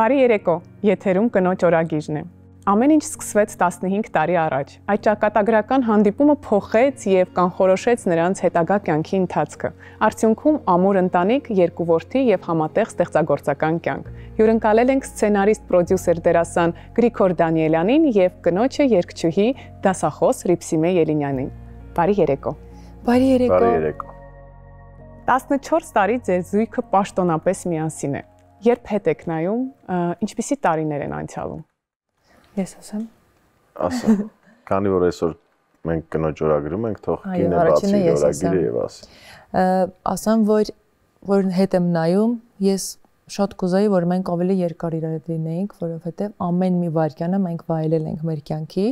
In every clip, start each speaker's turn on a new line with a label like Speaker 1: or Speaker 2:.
Speaker 1: Բարի երեկո, եթերում կնոջ օրագիրն է։ Ամեն ինչ սկսվեց 15 տարի առաջ։ Այդ ճակատագրական հանդիպումը փոխեց եւ կանխորոշեց նրանց հետագա կյանքի ընթացքը։ Արդյունքում ամուր ընտանիք, երկու որդի եւ համատեղ ստեղծագործական կյանք։ Հյուրընկալել ենք սցենարիստ, պրոդյուսեր, դերասան Գրիգոր Դանիելյանին եւ կնոջը երգչուհի, դասախոս Ռիփսիմե Ելինյանին։ Բարի երեկո։
Speaker 2: Բարի երեկո։
Speaker 3: Բարի երեկո։
Speaker 1: 14 տարի ձեր զույգը պաշտոնապես միասին է։ Երբ հետ եք նայում, ինչպիսի տարիներ են անցյալում։
Speaker 2: Ես ասեմ։
Speaker 3: Ասա։ Քանի որ այսօր մենք կնոջ օրագրում ենք, թող կինը բացի օրագիրը եւ ասի։
Speaker 2: Ասեմ, որ հետ եմ նայում, ես շատ կուզեի, որ մենք ավելի երկար իրար հետ լինեինք, որովհետեւ ամեն մի վայրկյանը մենք վայելել ենք մեր կյանքի։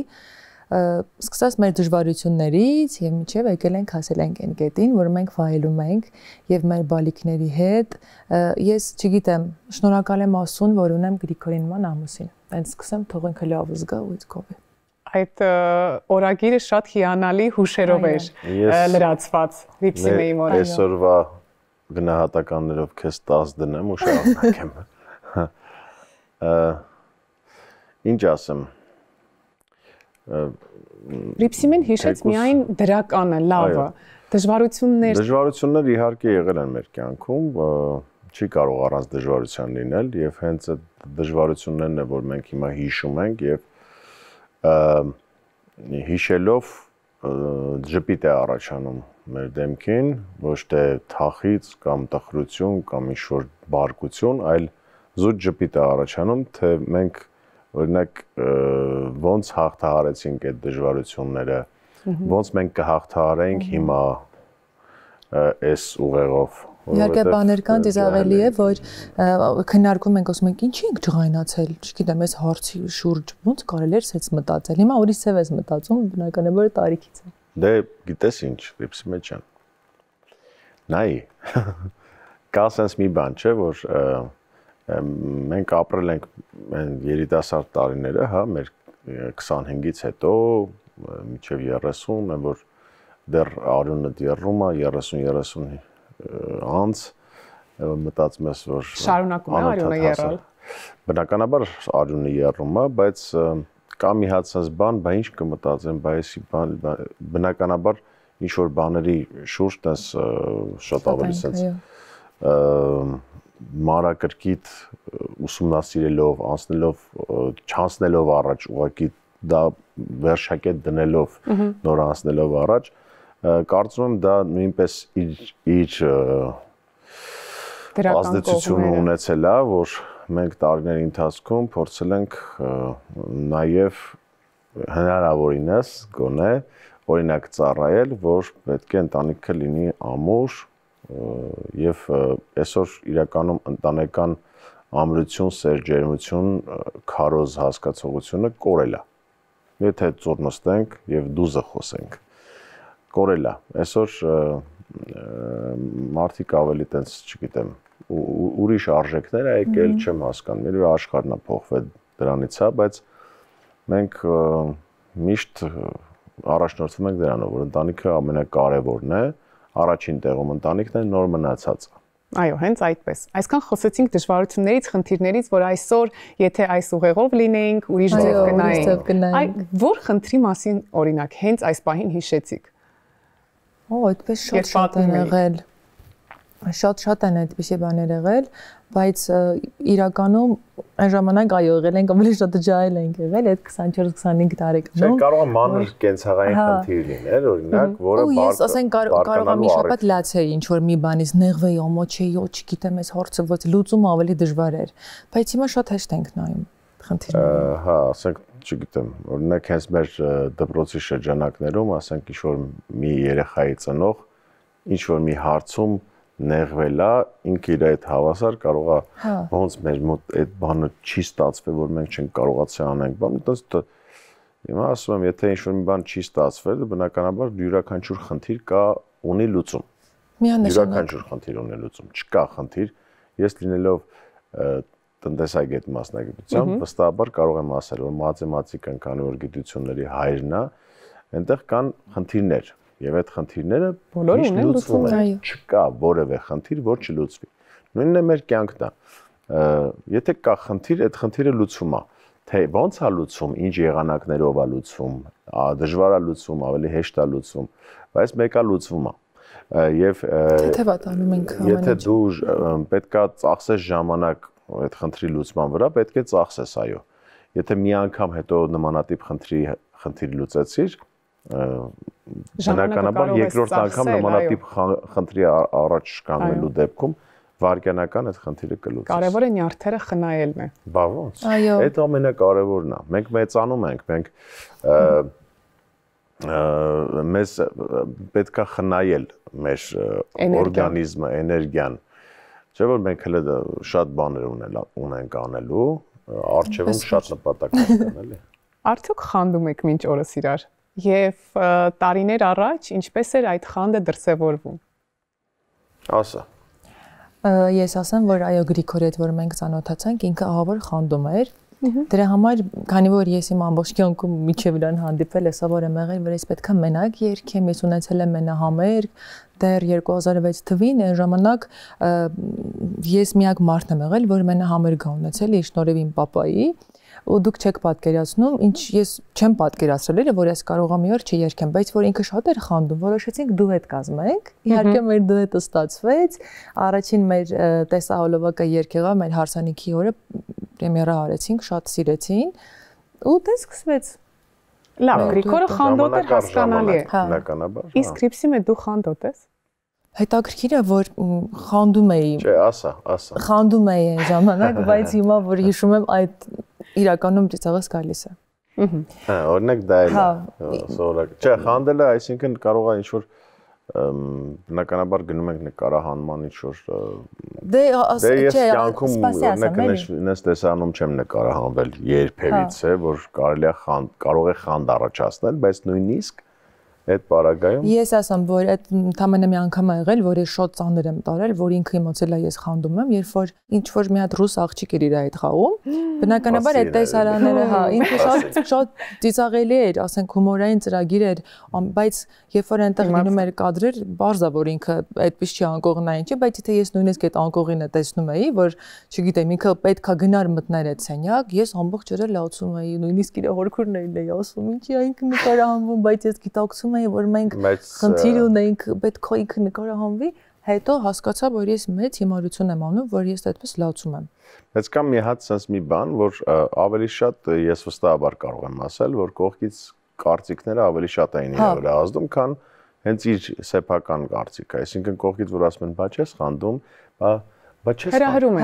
Speaker 2: Սկսած մեր դժվարություններից եւ միջև եկել ենք հասել ենք այն կետին, որ մենք վայելում ենք եւ մեր բալիկների հետ։ Ես չգիտեմ, շնորհակալ եմ Աստծուն, որ ունեմ Գրիգորին ման ամուսին։ Այն սկսեմ թող ինքը լավ զգա ու իցքովի։
Speaker 1: Այդ օրագիրը շատ հիանալի հուշերով էր լրացված Ռիփսիմեի մորը։
Speaker 3: Այսօրվա գնահատականներով քեզ 10 դնեմ ու շարունակեմ։ Ինչ ասեմ։
Speaker 1: Ռիփսիմեն հիշեց միայն դրականը, լավը, դժվարություններ
Speaker 3: իհարկե եղել են մեր կյանքում, չի կարող առանց դժվարության լինել եւ հենց այդ դժվարություններն է, որ մենք հիմա հիշում ենք եւ հիշելով ժպիտ է առաջանում մեր դեմքին, ոչ թե թախից կամ տխրություն կամ ինչ-որ բարկություն, այլ զուտ ժպիտ է առաջանում, թե մենք օրինակ ոնց հաղթահարեցինք այդ դժվարությունները, ոնց մենք կհաղթահարենք հիմա այս ուղեղով։
Speaker 2: Իհարկե բաներ կան, դից ավելի է, որ քննարկում ենք, ասում ենք, ինչի ենք ջղայնացել, չգիտեմ, այս հարցի շուրջ ոնց կարելի էր սենց մտածել։ Հիմա ուրիշ սև ես մտածում, բնականաբար տարիքից է։
Speaker 3: Դե գիտես ինչ, Ռիփսիմե ջան։ Նայ, կա սենց մի բան, չէ, որ մենք ապրել ենք երիտասարդ տարիները, հա, մեր 25-ից հետո մինչև 30, որ դեռ արյունը դեռում է 30-30 անց, մտածում ես, որ
Speaker 1: շարունակում է արյունը եռալ։
Speaker 3: Բնականաբար արյունը եռում է, բայց կա մի հատ sense բան, բա ինչ կմտածեմ, բա էսի բան, բնականաբար ինչ որ բաների շուրջ տես շատ ավելի sense մանրակրկիտ ուսումնասիրելով, անցնելով, չանցնելով առաջ, ուղղակի դա վերջակետ դնելով, նոր անցնելով առաջ, կարծում եմ դա նույնպես իր ազդեցությունը ունեցել է, որ մենք տարիների ընթացքում փորձել ենք նաև հնարավորինս գոնե օրինակ ծառայել, որ պետք է ընտանիքը լինի ամուր եւ այսօր իրականում ընտանեկան ամրություն, սեր, ջերմություն, քարոզ հասկացողությունը կորել է։ Եթե ծուռ նստենք եւ դուզը խոսենք, կորել է։ Այսօր մարդիկ ավելի տենց, չգիտեմ, ուրիշ արժեքներ է եկել, չեմ հասկանում, երբ աշխարհն է փոխվել դրանից, հա, բայց մենք միշտ առաջնորդվում ենք դրանով, որ ընտանիքը ամենակարևորն է, առաջին տեղում ընտանիքն է, նոր մնացածը։
Speaker 1: Այո, հենց այդպես։ Այսքան խոսեցինք դժվարություններից, խնդիրներից, որ այսօր, եթե այս ուղեղով լինեինք, ուրիշ ձև կնայինք։ Որ խնդրի մասին, օրինակ, հենց այս պահին հիշեցիք։
Speaker 2: Այդպես շատ են եղել։ Շատ են այդպիսի բաներ եղել, բայց իրականում այն ժամանակ այո եղել ենք, ավելի շատ ջահել ենք եղել այդ 24-25 տարեկանում։
Speaker 3: Չէ, կարող է մանր կենցաղային խնդիր լինել, օրինակ, որը
Speaker 2: ես ասենք կարող է մի շաբաթ լացեի ինչ որ մի բանից նեղվեի, ամոչեի, չգիտեմ, այս հարցը ոչ լուծումը ավելի դժվար էր, բայց հիմա շատ հեշտ ենք նայում խնդիրները։
Speaker 3: Հա, ասենք, չգիտեմ, օրինակ հենց մեր դպրոցի շրջանակներում, ասենք ինչ որ մի երեխայի ծնող ինչ որ մի հարցում նեղվել է, ինքը իր այդ հավասար կարող է ոնց մեր մոտ այդ բանը չի ստացվել, որ մենք չենք կարողացել անենք, բան, այդպես հիմա ասում եմ, եթե ինչ-որ մի բան չի ստացվել, բնականաբար յուրաքանչյուր խնդիր կա ունի լուծում։ Յուրաքանչյուր խնդիր ունի լուծում, չկա խնդիր, ես լինելով տնտեսագետ մասնագիտությամբ, վստահաբար կարող եմ ասել, որ մաթեմատիկան, քանի որ գիտությունների հայրն է, այնտեղ կան խնդիրներ։ Եվ այդ խնդիրները
Speaker 1: բոլորը ունեն լուծում,
Speaker 3: չկա որևէ խնդիր, որ չլուծվի։ Նույնն է մեր կյանքն է։ Եթե կա խնդիր, այդ խնդիրը լուծվում է։ Թե ո՞նց է լուծում, ինչ եղանակներով է լուծվում, դժվար է լուծվում, ավելի հեշտ է լուծվում, բայց մեկը լուծվում է։ Եվ
Speaker 2: թեթևատանում ենք ամեն ինչ։
Speaker 3: Եթե դու պետքա ծախսես ժամանակ այդ խնդրի լուծման վրա, պետք է ծախսես, այո։ Եթե մի անգամ հետո նմանատիպ խնդիր լուծեցիր, բնականաբար երկրորդ անգամ նմանատիպ խնդրի առաջ կանգնելու դեպքում վարկյանական այդ խնդիրը կլուծես։
Speaker 1: Կարևորը նյարդերը խնայելն է։
Speaker 3: Բա ոնց։ Այդ ամենակարևորն է։ Մենք մեծանում ենք, մեզ պետքա խնայել մեր օրգանիզմը, էներգիան։ Չէ՞ որ մենք հենց շատ բաներ ունենք անելու, առջևում շատ նպատակներ կան, էլի։
Speaker 1: Արդյոք խանդում եք մինչ օրս իրար։ Եվ տարիներ առաջ ինչպես էր այդ խանդը դրսևորվում։
Speaker 3: Ասա։
Speaker 2: Ես ասեմ, որ այո Գրիգորի հետ որ մենք ծանոթացանք, ինքը ահավոր խանդում էր։ Դրա համար, քանի որ ես իմ ամբողջ կյանքում միջև իրան հանդիպել եմ, սովոր եմ եղել, որ ես պետքա մենակ երգեմ, ես ունեցել եմ մենահամերգ, դեռ 2006 թվին այն ժամանակ ես միակ մարդն եմ եղել, որ մենահամերգ ա ունեցել իր շնորհիվ իմ պապայի, ու դուք չեք պատկերացնում, ինչ ես չեմ պատկերացրել, որ ես կարողա մի օր չերգեմ, բայց որ ինքը շատ էր խանդում, որոշեցինք դուետ կազմենք։ Իհարկե մեր դուետը ստացվեց, առաջին մեր տեսահոլովակը երգ եղավ մեր հարսանիքի օրը պրեմիերա արեցինք, շատ սիրեցին, ու դե սկսվեց։
Speaker 1: Լավ, Գրիգորը խանդոտ էր, հասկանալի է։
Speaker 3: Բնականաբար։
Speaker 1: Իսկ Ռիփսիմը դու խանդոտ ես։
Speaker 2: Հետաքրքիր է, որ խանդում էի։
Speaker 3: Չէ, ասա։
Speaker 2: Խանդում էի այն ժամանակ, բայց հիմա որ հիշում եմ այդ իրականում ծիծաղս գալիս է։
Speaker 3: Հա, օրինակ դա էլ է։ Սովորակ։ Չէ, խանդելը, այսինքն կարող է ինչ-որ բնականաբար գնում ենք նկարահանման ինչ-որ
Speaker 2: Դե
Speaker 3: ես կյանքում օրինակ նես տեսանում չեմ նկարահանվել երբևիցե, որ կարող է խանդ առաջացնել, բայց նույնիսկ այդ պարագայում
Speaker 2: ես ասեմ, որ այդ ընդամենը մի անգամ ա եղել, որ ես շատ ծանր եմ տարել, որ ինքը իմացել է ես խանդում եմ, երբ որ ինչ որ մի հատ ռուս աղջիկ էր իր այդ խաղում, բնականաբար այդ տեսարանները, հա, ինքը շատ ծիծաղելի էր, ասենք հումորային ծրագիր էր, բայց երբ որ այնտեղ լինում էր կադրեր, բարձա որ ինքը այդպես չի անկողնային չի, բայց եթե ես նույնիսկ այդ անկողինը տեսնում էի, որ չգիտեմ, ինքը պետքա գնար մտներ այդ սենյակ, ես ամբողջ օրը լացում էի, նույնիսկ իր հորքուրներն էի ասում, ինչի այնք նկարահանվում, բայց ես գիտակցում որ մենք խնդիր ունենք, պետք է ինքը նկարահանվի, հետո հասկացա, որ ես մեծ հիմարություն եմ անում, որ ես այդպես լացում եմ։
Speaker 3: Բայց կա մի հատ sense մի բան, որ ավելի շատ ես վստահաբար կարող եմ ասել, որ կողքից կարծիքները ավելի շատ էին իր վրա ազդում, քան հենց իր սեփական կարծիքը, այսինքն կողքից որ ասում են, բա չես խանդում, բա չես հրահրում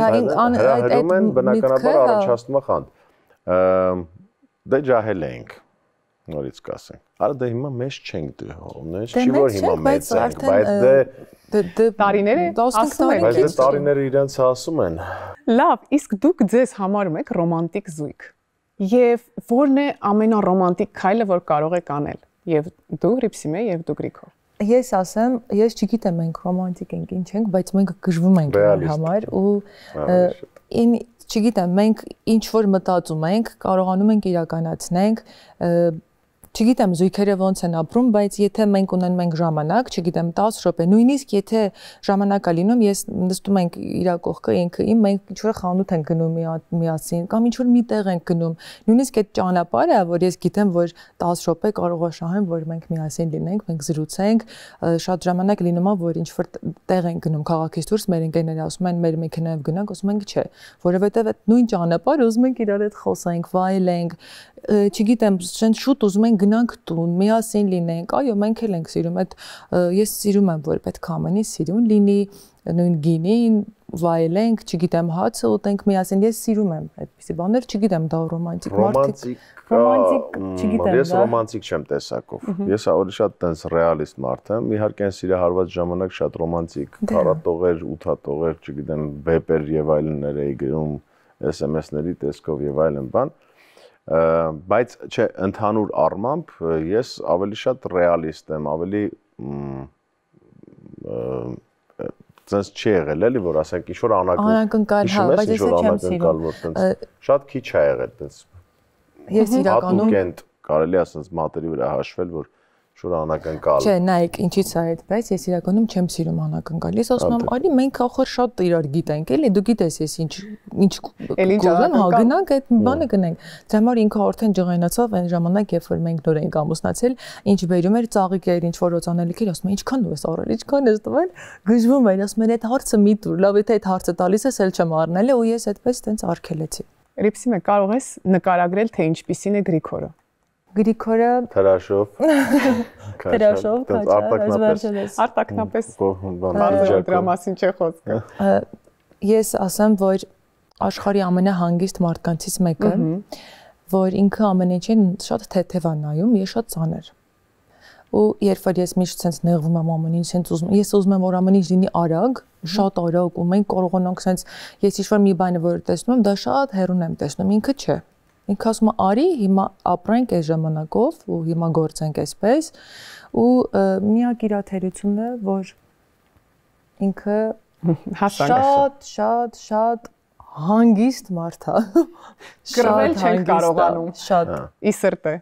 Speaker 3: են, բնականաբար առաջացնում է խանդ։ Դե ջահել ենք նորից կասենք։ Արա դե հիմա մեծ չենք դու, չի որ հիմա մեծ ենք, բայց
Speaker 1: դե տարիները ասում են,
Speaker 3: բայց տարիները իրենց ասում են։
Speaker 1: Լավ, իսկ դուք ձեզ համարում եք ռոմանտիկ զույգ։ Եվ ո՞րն է ամենառոմանտիկ քայլը, որ կարող եք անել։ Եվ դու Ռիփսիմե, եւ դու Գրիգոր։
Speaker 2: Ես ասեմ, ես չգիտեմ մենք ռոմանտիկ ենք, ինչ ենք, բայց մենք գժվում ենք իրար համար ու չգիտեմ, մենք ինչ որ մտածում ենք, կարողանում ենք իրականացնենք, չգիտեմ զույգերը ոնց են ապրում, բայց եթե մենք ունենում ենք ժամանակ, չգիտեմ 10 րոպե, նույնիսկ եթե ժամանակ է լինում, ես նստում ենք իր կողքը, ինքը իմ, մենք ինչ որ խանութ ենք գնում միասին, կամ ինչ որ մի տեղ ենք գնում, նույնիսկ այդ ճանապարհը, որ ես գիտեմ, որ 10 րոպե կարող է շահեմ, որ մենք միասին լինենք, մենք զրուցենք, շատ ժամանակ լինում է, որ ինչ որ տեղ ենք գնում քաղաքից դուրս, մեր ընկերները ասում են, մեր մեքենայով գնանք, ասում ենք չէ, որովհետև այդ նույն ճանապարհը ուզում ենք իրար հետ խոսենք, վայելենք, չգիտեմ, շուտ ուզում ենք գնանք տուն, միասին լինենք, այո, մենք էլ ենք սիրում, այդ ես սիրում եմ, որ պետք է ամենի սիրուն լինի, նույն գինին, վայելենք, չգիտեմ, հացը ուտենք միասին, ես սիրում եմ այդպիսի բաներ, չգիտեմ, դա ռոմանտիկ չգիտեմ,
Speaker 3: ես ռոմանտիկ չեմ տեսակով, ես ավելի շատ տենց ռեալիստ մարդ եմ, իհարկե այն սիրահարված ժամանակ շատ ռոմանտիկ, քարատողեր, ութատողեր, չգիտեմ, վեպեր եւ այլններ էի գրում, SMS-ների տեսքով եւ այլն բան, բայց չէ, ընդհանուր առմամբ ես ավելի շատ ռեալիստ եմ, ավելի ցած չի եղել էլի, որ ասենք ինչ-որ
Speaker 2: անակնկալ, հա, բայց ես չեմ սիրում,
Speaker 3: շատ քիչ է եղել տենց։
Speaker 2: Ես իրականում
Speaker 3: հատուկ կարելի ասենց մատերի վրա հաշվել, որ Շուտ անակնկալ։
Speaker 2: Չէ, նայեք, ինչի՞ց է այդպես, ես իրականում չեմ սիրում անակնկալից, ասում եմ, արի մենք ախոր շատ իրար գիտենք, էլի դու գիտես ես ինչ կողեմ, հա գնանք այդ բանը գնենք։ Դրա համար ինքը արդեն ջղայնացավ այն ժամանակ, երբ որ մենք նոր էինք ամուսնացել, ինչ բերում էր ծաղիկեր, ինչ որ օծանելիք էր, ասում եմ, ինչքան դու ես առել, ինչքան ես տվել, գժվում էր, ասում եմ, այդ հարցը մի տուր, լավ եթե այդ հարցը տալիս ես, էլ չեմ առնել, ու ես այդպես տենց արգելեցի։
Speaker 1: Ռիփսիմե, կարող ես նկարագրել, թե ինչպիսին է Գրիգորը։
Speaker 2: Գրիգորը
Speaker 3: Թրաշով,
Speaker 1: արտակնապես բարձր դրա մասին չէ խոսքը։
Speaker 2: Ես ասեմ, որ աշխարհի ամենահանգիստ մարդկանցից մեկը, որ ինքը ամեն ինչին շատ թեթև է նայում, ես շատ ծանր։ Ու երբ որ ես միշտ sense նեղվում եմ ամեն ինչ, sense ուզում, ես ուզում եմ որ ամեն ինչ լինի արագ, շատ արագ, ու մենք կարողանանք sense ես ինչ-որ մի բանը որ տեսնում եմ, դա շատ հեռուն եմ տեսնում, ինքը չէ։ Ինքը ասում է արի, հիմա ապրենք այս ժամանակով ու հիմա գործենք այսպես, ու միակ իր թերությունն է, որ ինքը շատ հանգիստ մարդ է։
Speaker 1: Կռվել չենք կարողանում։
Speaker 2: Շատ
Speaker 1: ի սրտե։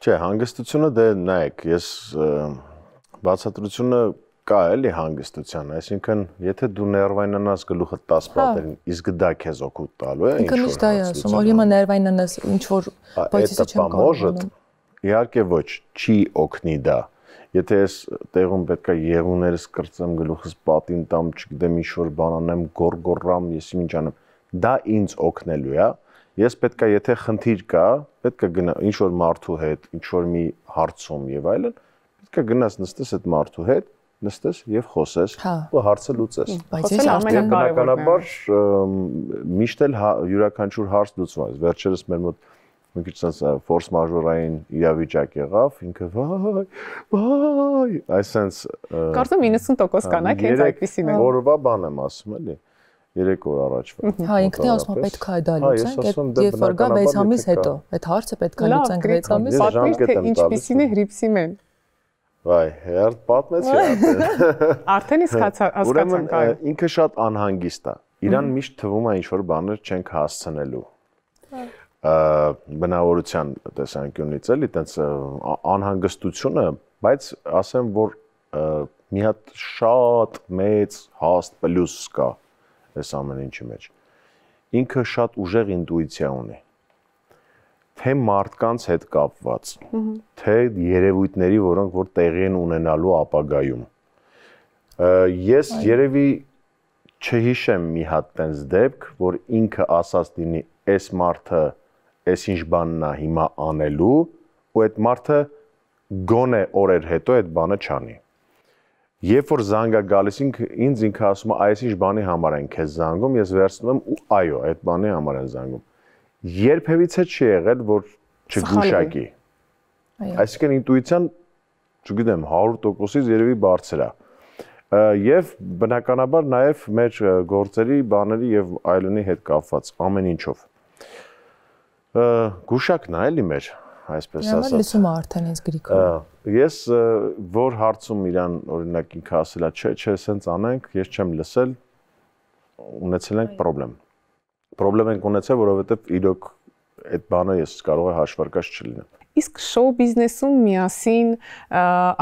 Speaker 3: Չէ, հանգստությունը դե նայեք, ես բացատրությունը կա էլի հանգստության, այսինքն եթե դու ներվայնանաս գլուխը 10 պատերին, իսկ դա քեզ օգուտ տալու է,
Speaker 2: ինքը միշտ դա է ասում, որ հիմա ներվայնանաս ինչ որ բայց ես չեմ կարողանում։
Speaker 3: Իհարկե ոչ, չի օգնի դա։ Եթե ես տեղում պետքա եղուներս կրծեմ գլուխս պատին տամ, չգիտեմ ինչ որ բան անեմ, գորգորամ, ես ինչ անեմ, դա ինձ օգնելու է։ Ես պետքա եթե խնդիր կա, պետքա գնա ինչ որ մարդու հետ, ինչ որ մի հարցում եւ այլն, պետքա գնաս նստես այդ մարդու հետ, նստես եւ խոսես ու հարցը լուծես։
Speaker 2: Բայց ես
Speaker 3: ամենակարևորն միշտ էլ յուրաքանչյուր հարց լուծվում է։ Վերջերս մեր մոտ մի քիչ sense force majeure-ային իրավիճակ եղավ, ինքը վայ, այսպես
Speaker 1: Կարծում 90% կանայք հենց այդպեսին են։
Speaker 3: Օրվա բան եմ ասում էլի։ 3 օր առաջվա։
Speaker 2: Հա, ինքն է ասում, պետք է դա լուծենք, երբ որ գա 6 ամիս հետո, այդ հարցը պետք է լուծենք 6 ամիս։
Speaker 1: Պատմիր թե ինչպեսին է Հրիփսիմեն։
Speaker 3: Վայ, հերթ պատմեցի արդեն։
Speaker 1: Արդեն իսկ հասկացանք այո։
Speaker 3: Ինքը շատ անհանգիստ է։ Իրան միշտ թվում է ինչ որ բաներ չենք հասցնելու։ Բնավորության տեսանկյունից էլի, տենց անհանգստությունը, բայց ասեմ, որ մի հատ շատ մեծ հաստ պլյուս կա այս ամեն ինչի մեջ։ Ինքը շատ ուժեղ ինտուիցիա ունի։ Թե մարդկանց հետ կապված, թե երևույթների, որոնք որ տեղի են ունենալու ապագայում։ Ես երևի չհիշեմ մի հատ տենց դեպք, որ ինքը ասած լինի, այս մարդը այս ինչ բանն է հիմա անելու, ու այդ մարդը գոնե օրեր հետո այդ բանը չանի։ Երբ որ զանգա գալիս ինձ ինքը ասում է, այս ինչ բանի համար են քեզ զանգում, ես վերցնում եմ ու այո, այդ բանի համար են զանգում։ Երբևիցե չի եղել, որ չգուշակի։ Այսինքն ինտուիցիան, չգիտեմ, 100%-ից երևի բարձր է։ Եվ բնականաբար նաև մեր գործերի, բաների եւ այլնի հետ կապված ամեն ինչով։ Գուշակն է էլի մեր, այսպես ասած։
Speaker 2: Ես լսում եմ արդեն ինձ Գրիգորը։
Speaker 3: Ես որ հարցում իրան օրինակ ինքը ասելա, չէ, սենց անենք, ես չեմ լսել, ունեցել ենք խնդրեմ։ Խնդրեմ ենք ունեցել, որովհետև իրոք այդ բանը ես կարող է հաշվարկած չլինեմ։
Speaker 1: Իսկ շոու բիզնեսում միասին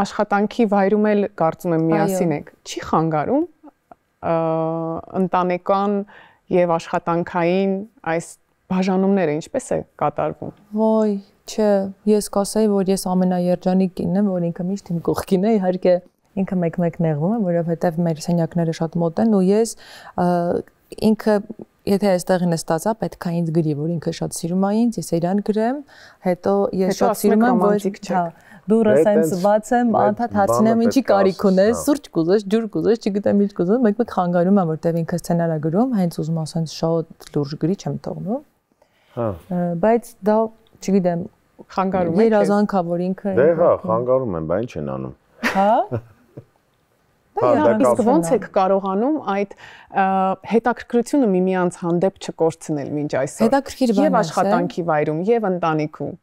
Speaker 1: աշխատանքի վայրում էլ կարծում եմ միասին եք։ Չի խանգարում ընտանեկան եւ աշխատանքային այս բաժանումները ինչպես է կատարվում։
Speaker 2: Ոյ, չէ, ես կասեի, որ ես ամենաերջանիկ կինն եմ, որ ինքը միշտ իմ կողքին է, իհարկե ինքը մեկ-մեկ նեղվում է, որովհետև մեր սենյակները շատ մոտ են ու ես ինքը եթե այստեղին նստածա, պետք է ինձ գրի, որ ինքը շատ սիրում է ինձ, ես իրան գրեմ, հետո ես շատ սիրում եմ, որ դուրը սենց բացեմ, անդադ հարցնեմ ինչի կարիք ունես, սուրճ կուզես, ջուր կուզես, չգիտեմ ինչ կուզես, մեկ-մեկ խանգարում եմ, որտեղ ինքը սցենար է գրում, հենց ուզում ասենց շատ լուրջ գրի չեմ թողնում։ Հա։ Բայց դա, չգիտեմ,
Speaker 1: խանգարում է։
Speaker 2: Երազանքա, որ ինքը
Speaker 3: Դե հա, խանգարում են, բա ինչ են անում։
Speaker 2: Հա։
Speaker 1: Իսկ ոնց եք կարողանում այդ հետաքրքրությունը միմյանց հանդեպ չկորցնել մինչ այսօր։
Speaker 2: Հետաքրքիր բան է։
Speaker 1: Եվ աշխատանքի վայրում, եւ ընտանիքում։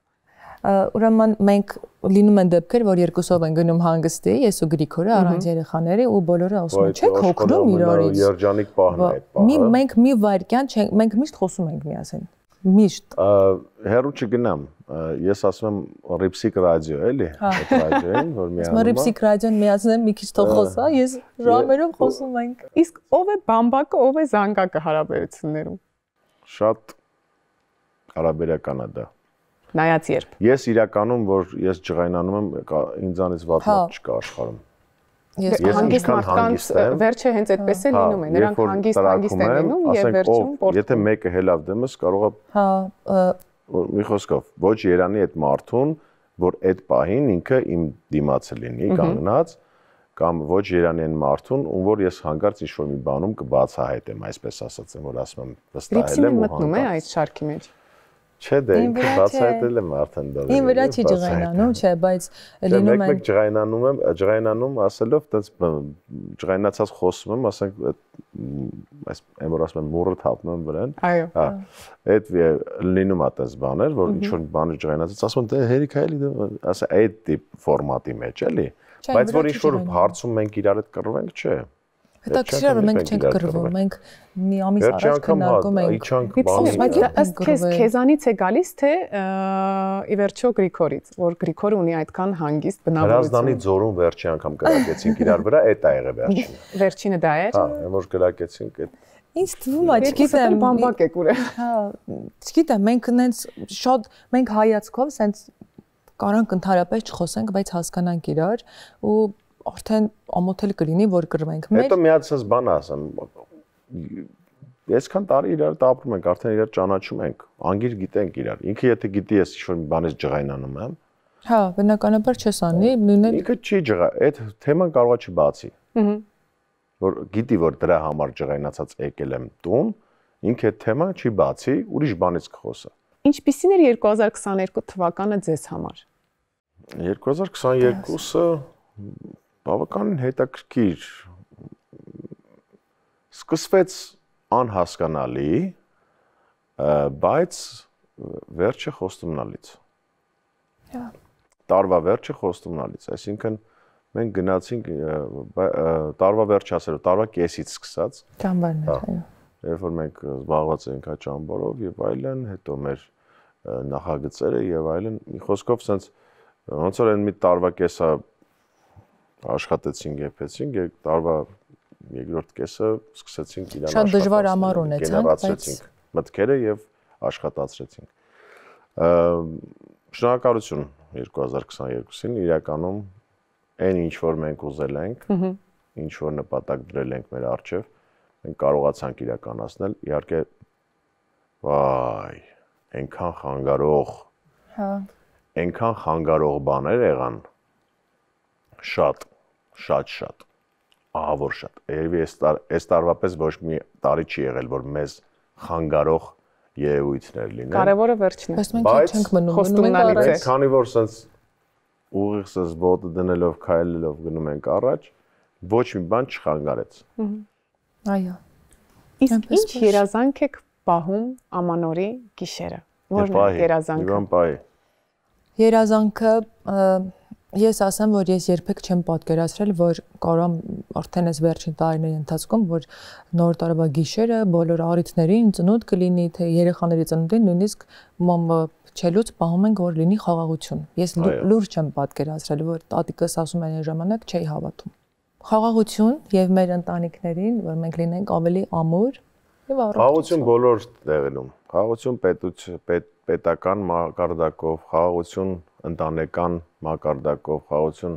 Speaker 2: Ուրեմն մենք լինում են դեպքեր, որ երկուսով են գնում հանգստի, ես ու Գրիգորը առանց երեխաների ու բոլորը ասում են, չեք հոգնում իրարից։
Speaker 3: Երջանիկ պահն է այդ պահը։
Speaker 2: Մենք մի վայրկյան չենք, մենք միշտ խոսում ենք միասին։ Միշտ։
Speaker 3: Հերու չգնամ։ Ես ասում եմ Ripsic ռադիո, էլի, այդ ռադիոին, որ միանում է։
Speaker 2: Ripsic ռադիոն միացնեմ մի քիչ թող խոսա, ես ժամերով խոսում ենք։
Speaker 1: Իսկ ով է բամբակը, ով է զանգակը հարաբերություններում։
Speaker 3: Շատ հարաբերական է դա։
Speaker 1: Նայած երբ։
Speaker 3: Ես իրականում, որ ես ջղայնանում եմ, ինձանից վատ մարդ չկա աշխարհում։
Speaker 1: Ես հանգիստ մարդկանց վերջը հենց այդպես է լինում է, նրանք հանգիստ են լինում եւ վերջում պորտ։
Speaker 3: Եթե մեկը հելավ դեմս կարող է մի խոսքով ոչ Երանի այդ մարդուն, որ այդ պահին ինքը իմ դիմացը լինի կանգնած կամ ոչ Երանի այն մարդուն, ում որ ես հանկարծ ինչ-որ մի բանում կբացահայտեմ, այսպես ասած եմ, որ ասում եմ վստահել եմ ու
Speaker 1: մտնում է այդ շարքի մեջ։
Speaker 3: Չէ, դե ինքը բացահայտել եմ արդեն դա։
Speaker 2: Ին վրա չի ջղայնանում, չէ, բայց լինում
Speaker 3: է։ Ջղայնանում ասելով, այդպես ջղայնացած խոսում եմ, ասենք այս եմ որ ասում եմ մուրը թափում եմ վրան։
Speaker 1: Այո։
Speaker 3: Հա։ Այդ լինում է այդպես բաներ, որ ինչ որ բանը ջղայնացած, ասում եմ դե հերիք է էլի, ասա այդ տիպ ֆորմատի մեջ էլի։ Բայց որ ինչ որ հարցում մենք իրար հետ կռվենք, չէ։
Speaker 2: Հետաքրքիր է, որ մենք չենք կռվում, մենք մի ամիս առաջ քննարկում ենք։
Speaker 1: Բայց ըստ քեզանից է գալիս թե ի վերջո Գրիգորից, որ Գրիգորը ունի այդքան հանգիստ բնավորություն։
Speaker 3: Հրազդանի ձորում վերջի անգամ կրակեցինք իրար վրա, այդ է եղել վերջին։
Speaker 1: Վերջինը դա էր։
Speaker 3: Հա, որ կրակեցինք այդ։
Speaker 2: Ինչ թվում է, չգիտեմ,
Speaker 1: բամբակ եք ուրեմն։
Speaker 2: Հա, չգիտեմ, մենք նենց շատ մենք հայացքով սենց կարանք ընդհանրապես չխոսենք, բայց հասկանանք իրար ու արդեն ամոթել կլինի, որ կռվենք։
Speaker 3: Հետո միացած բան ասեմ։ Այսքան տարի իրար հետ ապրում ենք, արդեն իրար ճանաչում ենք, անգիր գիտենք իրար։ Ինքը եթե գիտի ես ինչ-որ մի բանից ջղայնանում եմ։
Speaker 2: Հա, բնականաբար չես անի, նույնն
Speaker 3: ինքը չի ջղա, այդ թեման կարող է չբացի։
Speaker 1: Ահա։
Speaker 3: Որ գիտի, որ դրա համար ջղայնացած եկել եմ տուն, ինքը այդ թեման չի բացի, ուրիշ բանից կխոսա։
Speaker 1: Ինչպիսին էր 2022 թվականը ձեզ համար։
Speaker 3: 2022-ը բավականին հետաքրքիր սկսվեց անհասկանալի, բայց վերջը խոստումնալից։
Speaker 2: Հա։
Speaker 3: Տարվա վերջը խոստումնալից, այսինքն մենք գնացինք տարվա վերջ ասելով, տարվա կեսից սկսած։
Speaker 2: Ճամբարներ, այո։
Speaker 3: Երբ որ մենք զբաղված էինք այդ ճամբարով եւ այլն, հետո մեր նախագծերը եւ այլն, մի խոսքով sense ոնց որ այն մի տարվա կեսա աշխատեցինք, եփեցինք, տարվա երկրորդ կեսը սկսեցինք իրան աշխատել։
Speaker 2: Շատ դժվար ամառ ունեցանք,
Speaker 3: բայց մտքերը եւ աշխատացրեցինք։ Շնորհակալություն 2022-ին իրականում այն ինչ որ մենք ուզել ենք, ինչ որ նպատակ դրել ենք մեր առջև, մենք կարողացանք իրականացնել։ Իհարկե, վայ, այնքան խանգարող,
Speaker 2: հա,
Speaker 3: այնքան խանգարող բաներ եղան, շատ, ահա որ շատ։ Երևի այս տարվապես ոչ մի տարի չի եղել, որ մեզ խանգարող երևույթներ լինեն։
Speaker 1: Կարևորը վերջն է։
Speaker 2: Բայց մենք չենք մնում
Speaker 1: առաջ։
Speaker 3: Քանի որ sense ուղիղ sense ոտը դնելով, քայլելով գնում ենք առաջ, ոչ մի բան չխանգարեց։
Speaker 2: Այո։
Speaker 1: Իսկ ինչ երազանք եք պահում ամանորի գիշերը։ Որն է երազանքը։
Speaker 2: Երազանքը ես ասեմ, որ ես երբեք չեմ պատկերացրել, որ կարամ արդեն այս վերջին տարիների ընթացքում, որ նոր տարվա գիշերը բոլոր առիթներին ծնունդ կլինի, թե երեխաների ծնունդին, նույնիսկ չելուց պահում ենք, որ լինի խաղաղություն։ Ես լուրջ չեմ պատկերացրել, որ տատիկս ասում են այն ժամանակ չէի հավատում։ Խաղաղություն եւ մեր ընտանիքներին, որ մենք լինենք ավելի ամուր եւ առողջ։
Speaker 3: Խաղաղություն բոլոր տեղերում։ Խաղաղություն պետական մակարդակով, խաղաղություն ընտանեկան մակարդակով, խաղաղություն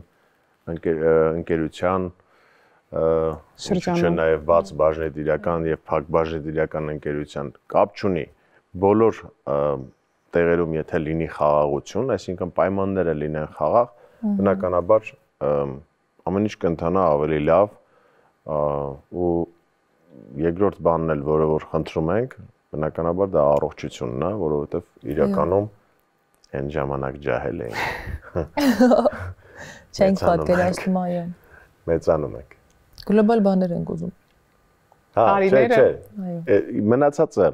Speaker 3: ընկերության շրջանում, նաև բաց բաժնետիրական եւ փակ բաժնետիրական ընկերության կապ չունի։ Բոլոր տեղերում եթե լինի խաղաղություն, այսինքն պայմանները լինեն խաղաղ, բնականաբար ամեն ինչ կընթանա ավելի լավ ու երկրորդ բանն էլ, որը որ խնդրում ենք, բնականաբար դա առողջությունն է, որովհետեւ իրականում այն ժամանակ ջահել էինք։
Speaker 2: Չենք պատկերացնում, այո։
Speaker 3: Մեծանում ենք։
Speaker 2: Գլոբալ բաներ ենք ուզում։
Speaker 3: Հա,
Speaker 1: տարիները,
Speaker 3: այո։ Մնացածը,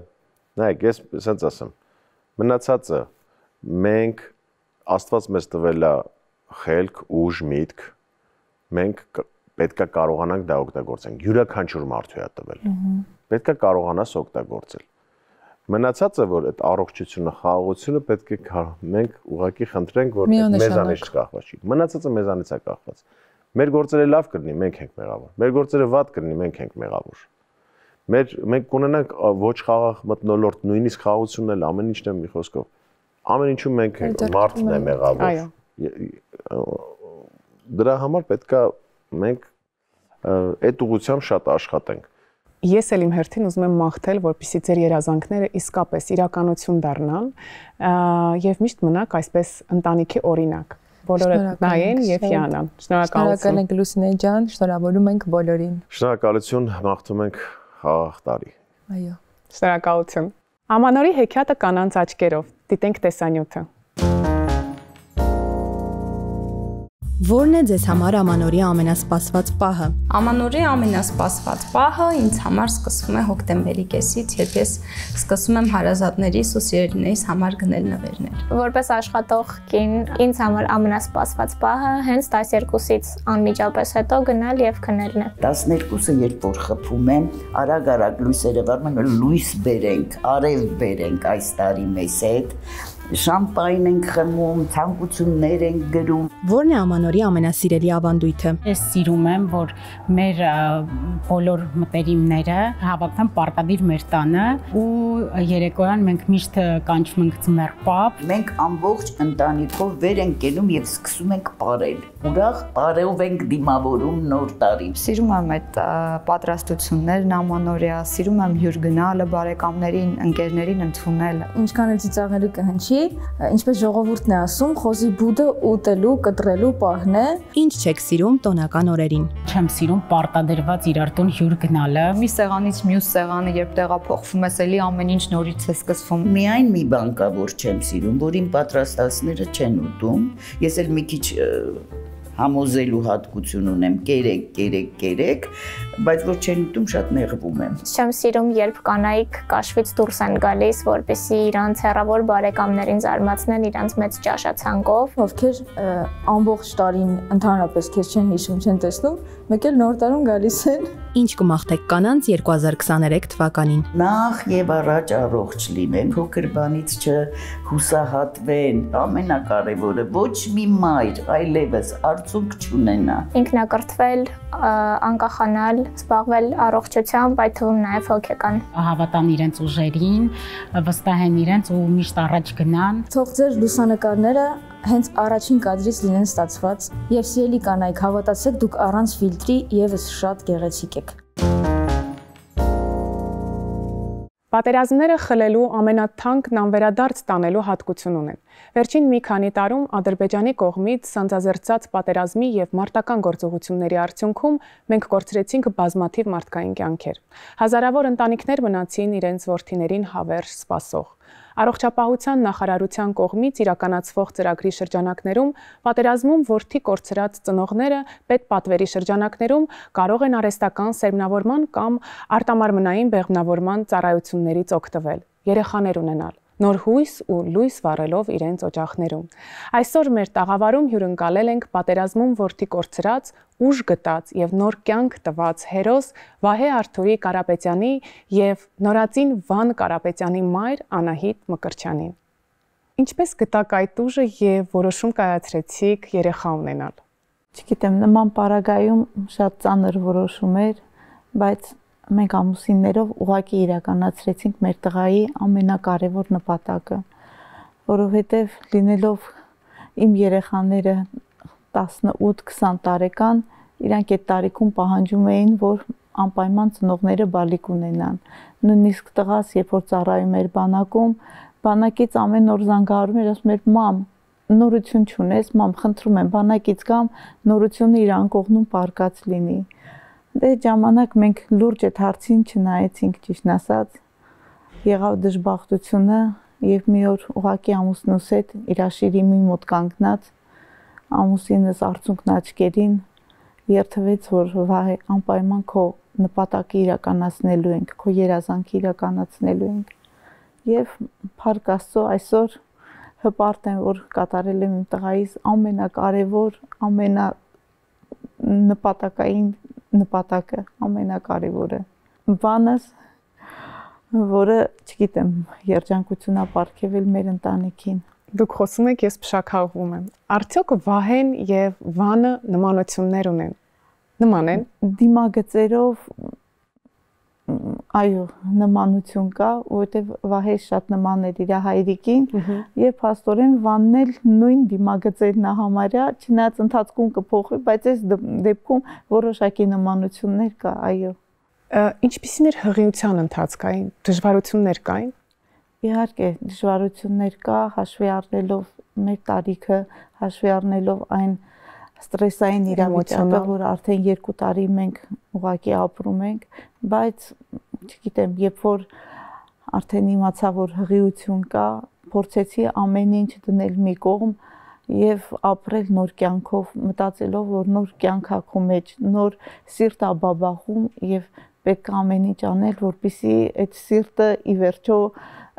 Speaker 3: նայեք, ես ասենց ասեմ, մնացածը մենք Աստված մեզ տվել է խելք, ուժ, միտք, մենք պետքա կարողանանք դա օգտագործենք։ Յուրաքանչյուր մարդու է տվել։ Պետքա կարողանաս օգտագործել։ Մնացածը որ այդ առողջությունը, խաղաղությունը պետք է մենք ուղղակի խնդրենք, որ մեզանից չկախված չի։ Մնացածը մեզանից է կախված։ Մեր գործերը լավ կլինի, մենք ենք մեղավոր։ Մեր գործերը վատ կլինի, մենք ենք մեղավոր։ Մենք կունենանք ոչ խաղաղ մթնոլորտ, նույնիսկ խաղաղությունն էլ ամեն ինչն է մի խոսքով։ Ամեն ինչում մենք մարդն է մեղավոր։ Դրա համար պետքա մենք այդ ուղղությամբ շատ աշխատենք։
Speaker 1: Ես էլ իմ հերթին ուզում եմ մաղթել, որպեսզի ձեր երազանքները իսկապես իրականություն դառնան եւ միշտ մնաք այսպես ընտանիքի օրինակ։ Բոլորը նայեն եւ հիանան։ Շնորհակալություն։
Speaker 2: Շնորհակալ ենք Լուսինե ջան, շնորհավորում ենք բոլորին։
Speaker 3: Շնորհակալություն, մաղթում ենք խաղաղ տարի։
Speaker 2: Այո։
Speaker 1: Շնորհակալություն։ Ամանորի հեքիաթը կանանց աչքերով։ Դիտենք տեսանյութը։
Speaker 4: Որն է ձեզ համար Ամանորի ամենասպասված պահը։
Speaker 5: Ամանորի ամենասպասված պահը ինձ համար սկսվում է հոկտեմբերի կեսից, երբ ես սկսում եմ հարազատներիս ու սիրելիներիս համար գնել նվերներ։
Speaker 6: Որպես աշխատող կին, ինձ համար ամենասպասված պահը հենց 12-ից անմիջապես հետո գնալ եւ քնելն է։
Speaker 7: 12-ը երբ որ խփում եմ, արագ լույսերը վառում են, լույս բերենք, արև բերենք այս տարի մեզ հետ։ Շամպայն ենք խմում, ցանկություններ ենք գրում։
Speaker 4: Որն է Ամանորի ամենասիրելի ավանդույթը։
Speaker 8: Ես սիրում եմ, որ մեր բոլոր մտերիմները հավաքվեն պարտադիր մեր տանը ու երեկոյան մենք միշտ կանչում ենք ձմեռ պապ։
Speaker 7: Մենք ամբողջ ընտանիքով վեր ենք գնում եւ սկսում ենք ապարել։ Ուրախ ապարելով ենք դիմավորում նոր տարին։
Speaker 9: Սիրում եմ այդ պատրաստություններն Ամանորյա, սիրում եմ հյուր գնալը, բարեկամներին, ընկերներին ընդունել։
Speaker 10: Ինչքան էլ ծիծաղելի կհնչի, ինչպես ժողովուրդն է ասում, խոզի բուդը ուտելու, կտրելու պահն է։
Speaker 4: Ինչ չեք սիրում տոնական օրերին։
Speaker 8: Չեմ սիրում պարտադրված իրար տուն հյուր գնալը։
Speaker 9: Մի սեղանից մյուս սեղանը, երբ տեղափոխվում ես, էլի ամեն ինչ նորից է սկսվում։
Speaker 7: Միայն մի բան կա, որ չեմ սիրում, որ իմ պատրաստածները չեն ուտում։ Ես էլ մի քիչ համոզելու հատկություն ունեմ, կերեք, բայց որ չեն ուտում, շատ նեղվում եմ։
Speaker 6: Չեմ սիրում, երբ կանայք կաշվից դուրս են գալիս, որպեսզի իրանց հեռավոր բարեկամներին զարմացնեն իրանց մեծ ճաշացանկով,
Speaker 10: ովքեր ամբողջ տարին ընդհանրապես քեզ չեն հիշում, չեն տեսնում, մեկ էլ նոր տարում գալիս են։
Speaker 4: Ինչ կմաղթեք կանանց 2023 թվականին։
Speaker 7: Նախ եւ առաջ առողջ լինեն, փոքր բանից չհուսահատվեն, ամենակարևորը ոչ մի մայր այլևս արդյունք չունենա։
Speaker 6: Ինքնակրթվել, անկախանալ, զբաղվել առողջությամբ, այդ թվում նաև հոգեկան։
Speaker 8: Հավատան իրենց ուժերին, վստահեն իրենց ու միշտ առաջ գնան։
Speaker 10: Թող ձեր լուսանկարները հենց առաջին կադրից լինեն ստացված եւ սիրելի կանայք, հավատացեք, դուք առանց ֆիլտրի եւս շատ գեղեցիկ եք։
Speaker 1: Պատերազմները խլելու ամենաթանկն անվերադարձ տանելու հատկություն ունեն։ Վերջին մի քանի տարում Ադրբեջանի կողմից սանձազերծած պատերազմի եւ մարտական գործողությունների արդյունքում մենք կորցրեցինք բազմաթիվ մարդկային կյանքեր։ Հազարավոր ընտանիքներ մնացին իրենց որդիներին հավերժ սպասող։ Առողջապահության նախարարության կողմից իրականացվող ծրագրի շրջանակներում պատերազմում որդի կորցրած ծնողները պետպատվերի շրջանակներում կարող են արհեստական սերմնավորման կամ արտամարմնային բեղմնավորման ծառայություններից օգտվել, երեխաներ ունենալ, նոր հույս ու լույս վառելով իրենց օջախներում։ Այսօր մեր տաղավարում հյուրընկալել ենք պատերազմում որդի կորցրած, ուժ գտած եւ նոր կյանք տված հերոս Վահե Արթուրի Կարապետյանի եւ նորածին Վան Կարապետյանի մայր Անահիտ Մկրտչյանին։ Ինչպես գտաք այդ ուժը եւ որոշում կայացրեցիք երեխա ունենալ։
Speaker 11: Չգիտեմ, նման պարագայում շատ ծանր որոշում էր, բայց մենք ամուսիններով ուղղակի իրականացրեցինք մեր տղայի ամենակարևոր նպատակը, որովհետև լինելով իմ երեխաները 18-20 տարեկան, իրանք այդ տարիքում պահանջում էին, որ անպայման ծնողները բալիկ ունենան։ Նույնիսկ տղաս, երբ որ ծառայում էր բանակում, բանակից ամեն օր զանգահարում էր, ասում էր՝ «Մամ, նորություն չունես, մամ, խնդրում եմ, բանակից կամ նորությունը իր անկողնում պարկած լինի»։ Դե ժամանակ մենք լուրջ այդ հարցին չնայեցինք, ճիշտն ասած, եղավ դժբախտությունը եւ մի օր ուղակի ամուսնուս հետ իրաշիրիմի մոտ կանգնած, ամուսինս արցունքն աչքերին երթվեց, որ Վահե, անպայման քո նպատակը իրականացնելու ենք, քո երազանքը իրականացնելու ենք։ Եվ փառք Աստծո, այսօր հպարտ եմ, որ կատարել եմ իմ տղայիս ամենակարևոր, նպատակային նպատակը ամենակարևորը։ Վանս որը, չգիտեմ, երջանկություն է ապարգևել մեր ընտանիքին։
Speaker 1: Դուք խոսում եք, ես փշաքաղվում եմ։ Արդյոք Վահեն եւ Վանը նմանություններ ունեն։ Նման են։
Speaker 11: Դիմագծերով այո, նմանություն կա, որովհետև Վահեն շատ նման էր իր հայրիկին, եւ փաստորեն Վանն էլ նույն դիմագծերն է համարյա, չնայած ընթացքում կփոխվի, բայց այս դեպքում որոշակի նմանություններ կա, այո։
Speaker 1: Ինչպիսին էր հղիության ընթացքային, դժվարություններ կային։
Speaker 11: Իհարկե, դժվարություններ կա, հաշվի առնելով մեր տարիքը, հաշվի առնելով այն ստրեսային իրավիճակը, որ արդեն 2 տարի մենք ուղղակի ապրում ենք, բայց չգիտեմ, երբ որ արդեն իմացա, որ հղիություն կա, փորձեցի ամեն ինչ դնել մի կողմ եւ ապրել նոր կյանքով, մտածելով, որ նոր կյանք ա քո մեջ, նոր սիրտ ա բաբախում եւ պետք է ամեն ինչ անել, որպեսզի այդ սիրտը ի վերջո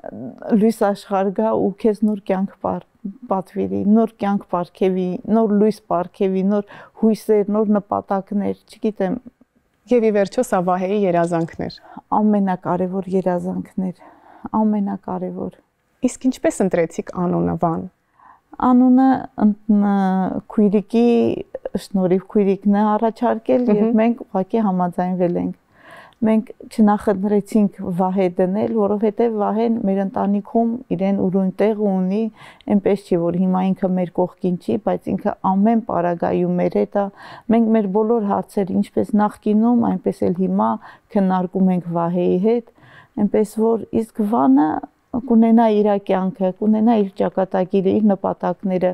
Speaker 11: լույս աշխարհ գա ու քեզ նոր կյանք պատվիրի, նոր կյանք պարգևի, նոր լույս պարգևի, նոր հույսեր, նոր նպատակներ, չգիտեմ։
Speaker 1: Եվ ի վերջո սա Վահեի երազանքներ։
Speaker 11: Ամենակարևոր երազանքներ, ամենակարևոր։
Speaker 1: Իսկ ինչպես ընտրեցիք անունը Վան։
Speaker 11: Անունը քույրիկի շնորհիվ քույրիկն է առաջարկել եւ մենք ուղղակի համաձայնվել ենք։ Մենք չնախընտրեցինք Վահե դնել, որովհետև Վահեն մեր ընտանիքում իրեն ուրույն տեղ ունի, այնպես չի, որ հիմա ինքը մեր կողքին չի, բայց ինքը ամեն պարագայում մեր հետ է։ Մենք մեր բոլոր հարցերը, ինչպես նախկինում, այնպես էլ հիմա քննարկում ենք Վահեի հետ, այնպես որ իսկ Վանը կունենա իր կյանքը, կունենա իր ճակատագիրը, իր նպատակները,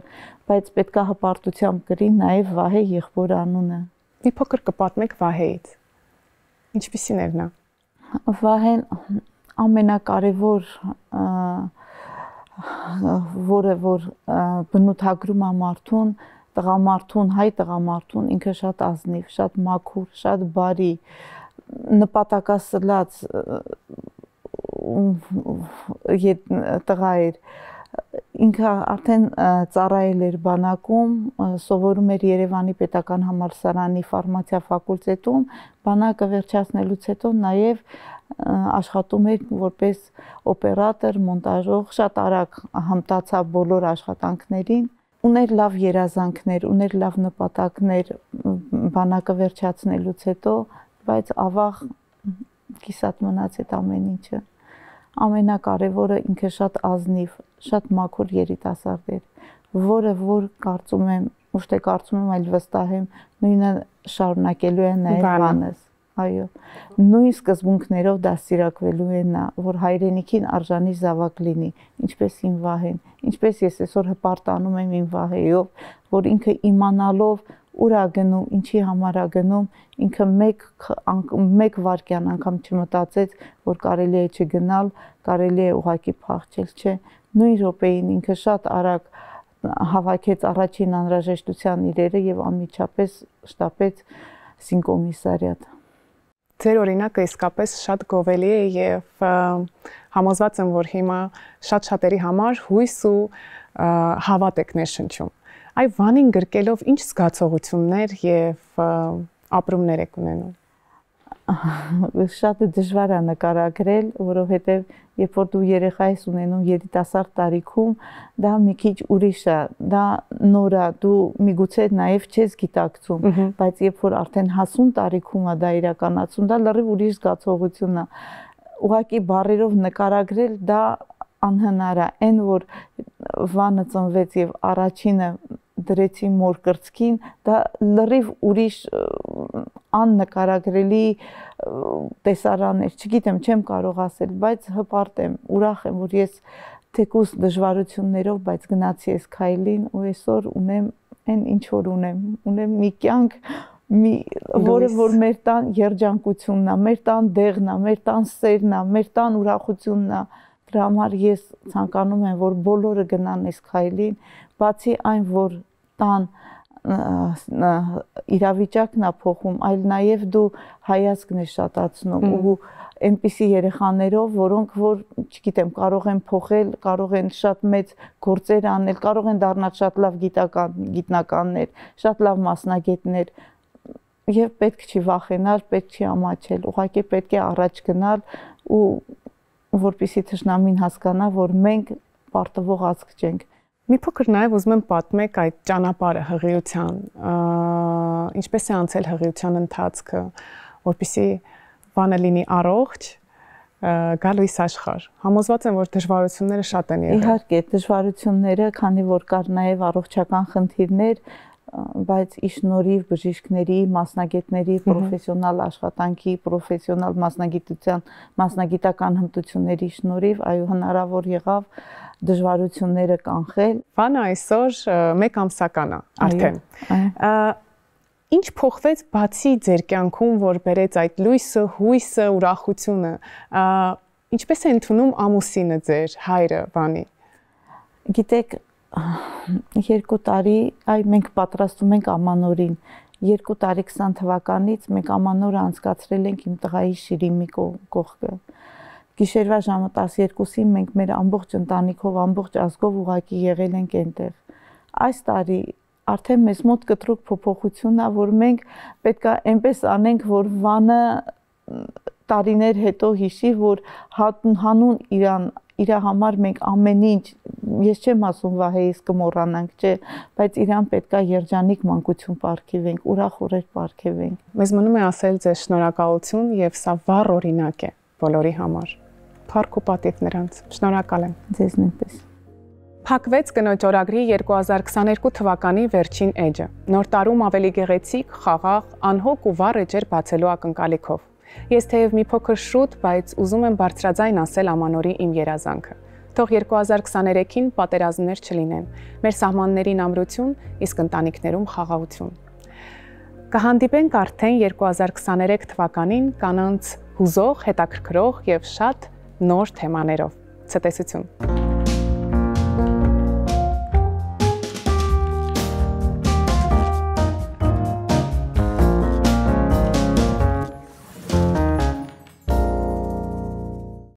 Speaker 11: բայց պետք է հպարտությամբ կրի նաև Վահե եղբոր անունը։
Speaker 1: Մի փոքր կպատմեք Վահեից։ Ինչպիսին էր նա։
Speaker 11: Վահեն ամենակարևոր որը որ բնութագրում է մարդուն, տղամարդուն, հայ տղամարդուն, ինքը շատ ազնիվ, շատ մաքուր, շատ բարի, նպատակասլաց տղա էր։ Ինքը արդեն ծառայել էր բանակում, սովորում էր Երևանի պետական համալսարանի ֆարմացիա ֆակուլտետում, բանակը վերջացնելուց հետո նաև աշխատում էր որպես օպերատոր, մոնտաժող, շատ արագ հմտացավ բոլոր աշխատանքներին, ուներ լավ երազանքներ, ուներ լավ նպատակներ բանակը վերջացնելուց հետո, բայց ավաղ կիսատ մնաց այդ ամեն ինչը։ Ամենակարևորը ինքը շատ ազնիվ, շատ մաքուր երիտասարդ էր, որը որ կարծում եմ, ոչ թե կարծում եմ, այլ վստահ եմ, նույնը շարունակելու է նաև Վանս։ Այո, նույն սկզբունքներով դաստիարակվելու է նա, որ հայրենիքին արժանի զավակ լինի, ինչպես իմ Վահեն, ինչպես ես այսօր հպարտանում եմ իմ Վահեով, որ ինքը իմանալով ուր ա գնում, ինչի համար ա գնում, ինքը մեկ վայրկյան անգամ չմտածեց, որ կարելի է չգնալ, կարելի է ուղղակի փախչել, չէ։ Նույն րոպեին ինքը շատ արագ հավաքեց առաջին անհրաժեշտության իրերը եւ անմիջապես շտապեց Սինկոմիսարիատ։
Speaker 1: Ձեր օրինակը իսկապես շատ գովելի է եւ համոզված եմ, որ հիմա շատ-շատերի համար հույս ու հավատ եք ներշնչում։ Այ Վանին գրկելով ինչ զգացողություններ եւ ապրումներ եք ունենում։
Speaker 11: Շատ դժվար է նկարագրել, որովհետեւ երբ որ դու երեխա ես ունենում երիտասարդ տարիքում, դա մի քիչ ուրիշ է, դա նոր է, դու միգուցե նաեւ չես գիտակցում, բայց երբ որ արդեն հասուն տարիքում է դա իրականացում, դա լրիվ ուրիշ զգացողություն է։ Ուղղակի բառերով նկարագրել դա անհնար է, այն որ Վանը ծնվեց եւ առաջինը դրեցի մոր կրծքին, դա լրիվ ուրիշ աննկարագրելի տեսարան էր, չգիտեմ, չեմ կարող ասել, բայց հպարտ եմ, ուրախ եմ, որ ես թեկուզ դժվարություններով, բայց գնացի այս քայլին ու այսօր ունեմ այն ինչ որ ունեմ մի կյանք, որը որ մեր տան երջանկությունն է, մեր տան դեղն է, մեր տան սերն է, մեր տան ուրախությունն է։ Դրա համար ես ցանկանում եմ, որ բոլորը գնան այս քայլին, բացի այն, որ տան իրավիճակն է փոխում, այլ նաև դու հայացքն ես շատացնում ու այնպիսի երեխաներով, որոնք որ, չգիտեմ, կարող են փոխել, կարող են շատ մեծ գործեր անել, կարող են դառնալ շատ լավ գիտնականներ, շատ լավ մասնագետներ, եւ պետք չի վախենալ, պետք չի ամաչել, ուղղակի պետք է առաջ գնալ ու որպեսզի թշնամին հասկանա, որ մենք պարտվող ազգ չենք։
Speaker 1: Մի փոքր նաև ուզում եմ պատմեք այդ ճանապարհը հղիության, ինչպես է անցել հղիության ընթացքը, որպեսզի բանը լինի առողջ, գա լույս աշխարհ։ Համոզված եմ, որ դժվարությունները շատ են եղել։
Speaker 11: Իհարկե, դժվարությունները, քանի որ կար նաև առողջական խնդիրներ, բայց ի շնորհիվ բժիշկների, մասնագետների, պրոֆեսիոնալ աշխատանքի, պրոֆեսիոնալ մասնագիտական հմտությունների շնորհիվ, այո, հնարավոր եղավ դժվարությունները կանխել։
Speaker 1: Բանը այսօր 1 ամսական է արդեն։ Ինչ փոխվեց բացի ձեր կյանքում, որ բերեց այդ լույսը, հույսը, ուրախությունը։ Ինչպես է ընդունում ամուսինը ձեր, հայրը, Վանի։
Speaker 11: Գիտեք, 2 տարի, մենք պատրաստում ենք ամանորին։ 2 տարի 20 թվականից մենք ամանորը անցկացրել ենք իմ տղայի Շիրիմի կողքը։ Գիշերվա ժամը 12-ին մենք մեր ամբողջ ընտանիքով, ամբողջ ազգով ուղակի եղել ենք այնտեղ։ Այս տարի արդեն մեզ մոտ կտրուկ փոփոխություն է, որ մենք պետքա այնպես անենք, որ Վանը տարիներ հետո հիշի, որ հանուն իր համար մենք ամեն ինչ, ես չեմ ասում Վահեիս կմոռանանք, չէ, բայց իրան պետքա երջանիկ մանկություն պարգևենք, ուրախ օրեր պարգևենք։
Speaker 1: Մեզ մնում է ասել ձեզ շնորհակալություն եւ սա վառ օրինակ է բոլորի համար։ Փառք ու պատիվ նրանց։ Շնորհակալ եմ։
Speaker 11: Ձեզ նույնպես։
Speaker 1: Փակվեց կնոջ օրագրի 2022 թվականի վերջին էջը։ Նոր տարում ավելի գեղեցիկ, խաղաղ, անհոգ ու վառ էջեր բացելու ակնկալիքով։ Ես թեև մի փոքր շուտ, բայց ուզում եմ բարձրաձայն ասել ամանորի իմ երազանքը։ Թող 2023-ին պատերազմներ չլինեն, մեր սահմաններին ամրություն, իսկ ընտանիքներում խաղաղություն։ Կհանդիպենք արդեն 2023 թվականին կանանց հուզող, հետաքրքրող եւ շատ նոր թեմաներով։ Ցտեսություն։